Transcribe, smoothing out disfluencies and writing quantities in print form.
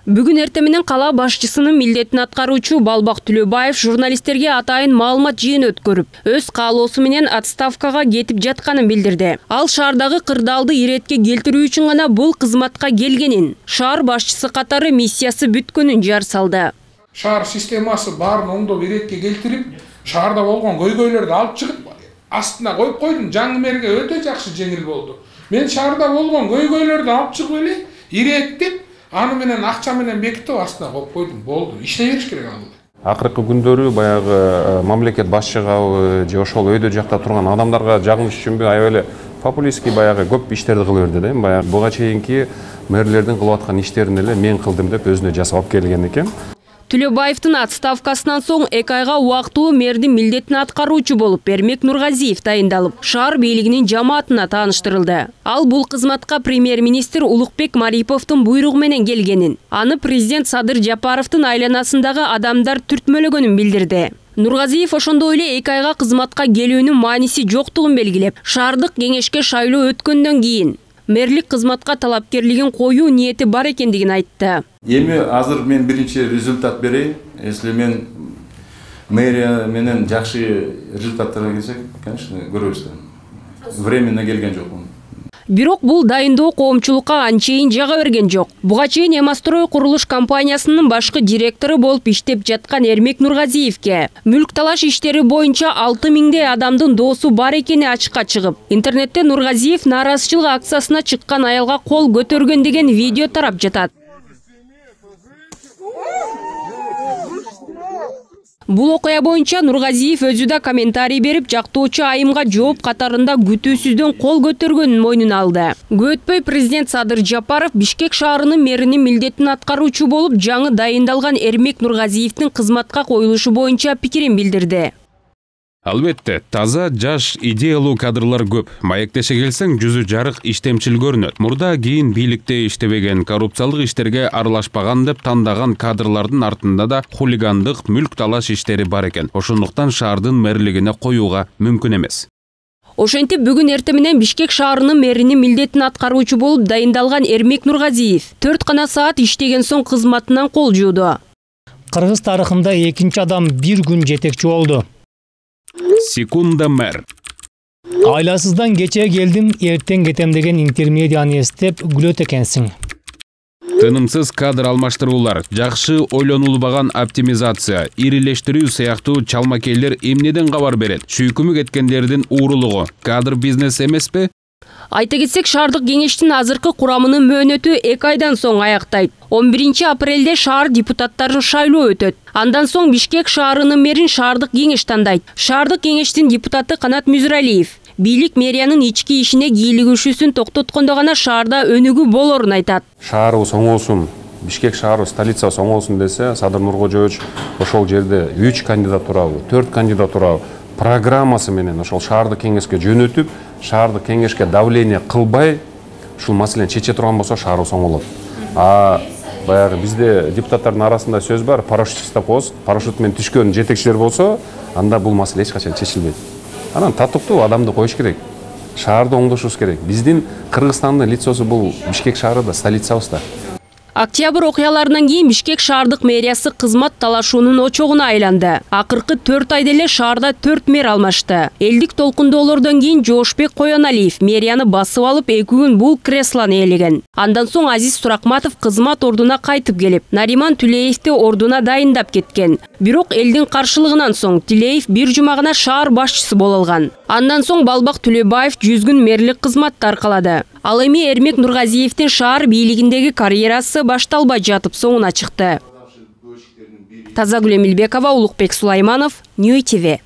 Бүгүн эртең менен кала башчысынын милдетин аткаруучу Балбак Түлөбаев журналисттерге атайын маалымат жыйыны өткөрүп, өз каалоосу менен отставкага кетип жатканын билдирди. Ал шаардагы кырдаалды иретке келтирүү үчүн гана бул кызматка келгенин, шаар башчысы катары миссиясы бүткөнүн жар салды. Шаар системасы баарын оңдоп иретке келтирип, шаарда болгон көйгөйлөрдү алып чыгып, астына коюп койдум. Жаңы мэрге өтө жакшы жеңил болду. Мен шаарда болгон көйгөйлөрдү алып чыгып эле иреттеп, аны менен акча менен бекитип астына коюп койдум. Болду. Иштей бериш керек аны. Акыркы күндөрү баягы мамлекет башчыгабы же ошол өйдө жакта турган адамдарга жагымыш үчүнбү аябай эле популистский баягы көп иштерди кыла берди да. Баягы буга чейинки мэрлердин кылып аткан иштерин эле мен кылдым деп өзүнө жасап алып келген экен. Түлөбаевдин отставкасынан соң 2 айга убактылуу мэрдин милдетин аткаруучу болуп Эрмек Нургазиев дайындалып, шаар бийлигинин жамаатына тааныштырылды. Ал бул кызматка премьер-министр Улукбек Мариповдун буйругу менен келгенин, аны президент Садыр Жапаровдун айланасындагы адамдар түртмөлөгөнүн билдирди. Нургазиев ошондой эле 2 айга кызматка келүүнүн мааниси жоктугун белгилеп, шаардык кеңешке шайлоо өткөндөн кийин мэрлик кызматка талапкерлигин коюу ниети бар экендигин айтты. Эми азыр мен биринчи результат берейин. Если мен мэрия менен жакшы результаттарга келсек, конечно, көрөбүз да. Временно келген жокмун. Бирок бул дайындоо коомчулукка анчейин жага берген жок. Буга чейин Эмастрой курулуш компаниясынын башкы директору болуп иштеп жаткан Эрмек Нургазиевке мүлк талаш иштери боюнча 6000 адамдын доосу бар экени ачыкка чыгып, интернетте Нургазиев нааразычылык акциясына чыккан аялга кол көтөргөн деген видео тарап жатат. Бул окуя боюнча Нургазиев өзү да комментарий берип, жактоочу айымга жооп катарында күтүүсүздөн кол көтөргөнүн мойнуна алды. Өтпөй президент Садыр Жапаров Бишкек шаарынын мэринин милдетин аткаруучу болуп, жаңы дайындалган Эрмек Нургазиевдин кызматка коюлушу боюнча пикирин билдирди. Албетте, таза, жаш, идеялуу кадрлар көп. Маектеше келсең, жүзү жарык иштемчил көрүнөт. Мурда кийин бийликте иштебеген, коррупциялык иштерге аралашпаган деп тандаган кадрлардын артында да хулигандык, мүлк талаш иштери бар экен. Ошондуктан шаардын мэрлигине коюуга мүмкүн эмес. Ошентип бүгүн эртең менен Бишкек шаарынын мэринин милдетин аткаруучу болуп дайындалган Эрмек Нургазиев 4 гана саат иштеген соң кызматынан кол жууду. Кыргыз тарыхында экинчи адам бир күн жетекчи болду. Секунда мэр. Айласыздан кече келдим, эртең кетем деген интермедияны эстеп күлөт экенсиң. Тынымсыз кадр алмаштыруулар, жакшы ойлонулбаган оптимизация, ирилештирүү сыяктуу чалмакейлер эмнеден кабар берет? Шүйкүмү кеткендердин уурулугу кадр бизнес эмеспи? Айта кетсек, шаардык кеңештин азыркы курамынын мөөнөтү 2 айдан соң аяктайт. 11 апрелде шаар депутаттарын шайлоо өтөт. Андан соң Бишкек шаарынын мэрин шаардык кеңеш тандайт. Шаардык кеңештин депутаты Канат Мүзүралиев бийлик мэриянын ички ишине кийлигишүүсүн токтоткондо гана шаарда өнүгүү болорун айтат. Шаарыбыз оңолсун, Бишкек шаары столицасы оңолсун десе, Садыр Нуркожоевич ошол жерде 3 кандидатурабы, 4 кандидатурабы программасы менен ошол шаардык кеңешке жөнөтүп, шаардык кеңешке давление кылбай, ушул маселени чече турган болсо шаарыбыз оңолот. Баягы бизде депутаттардын арасында сөз бар, парашют жасап коебуз, парашют менен түшкөн жетекчилер болсо, анда бул маселе эч качан чечилбейт. Анан татыктуу адамды коюш керек. Шаарды оңдошубуз керек. Биздин Кыргызстандын лицосу бул Бишкек шаары да, столицабыз да. Октябрь окуяларынан кийин Бишкек шаардык мэриясы кызмат талашуунун очогуна айланды. Акыркы 4 айда эле шаарда 4 мэр алмашты. Элдик толкундоолордон кийин Жоошбек Коёналиев мэрияны басып алып 2 күн бул креслону ээлеген. Андан соң Азиз Суракматов кызмат ордуна кайтып келип, Нариман Түлеевди ордуна дайындап кеткен. Бирок элдин каршылыгынан соң Түлеев бир жума гана шаар башчысы боло алган. Андан соң Балбак Түлөбаев 100 күн мэрлик кызматты аркалады. Ал эми Эрмек Нургазиевдин шаар бийлигиндеги карьерасы башталбай жатып соңуна чыкты. Тазагүл Эмилбекова, Улукбек Сулайманов, Нью ТВ.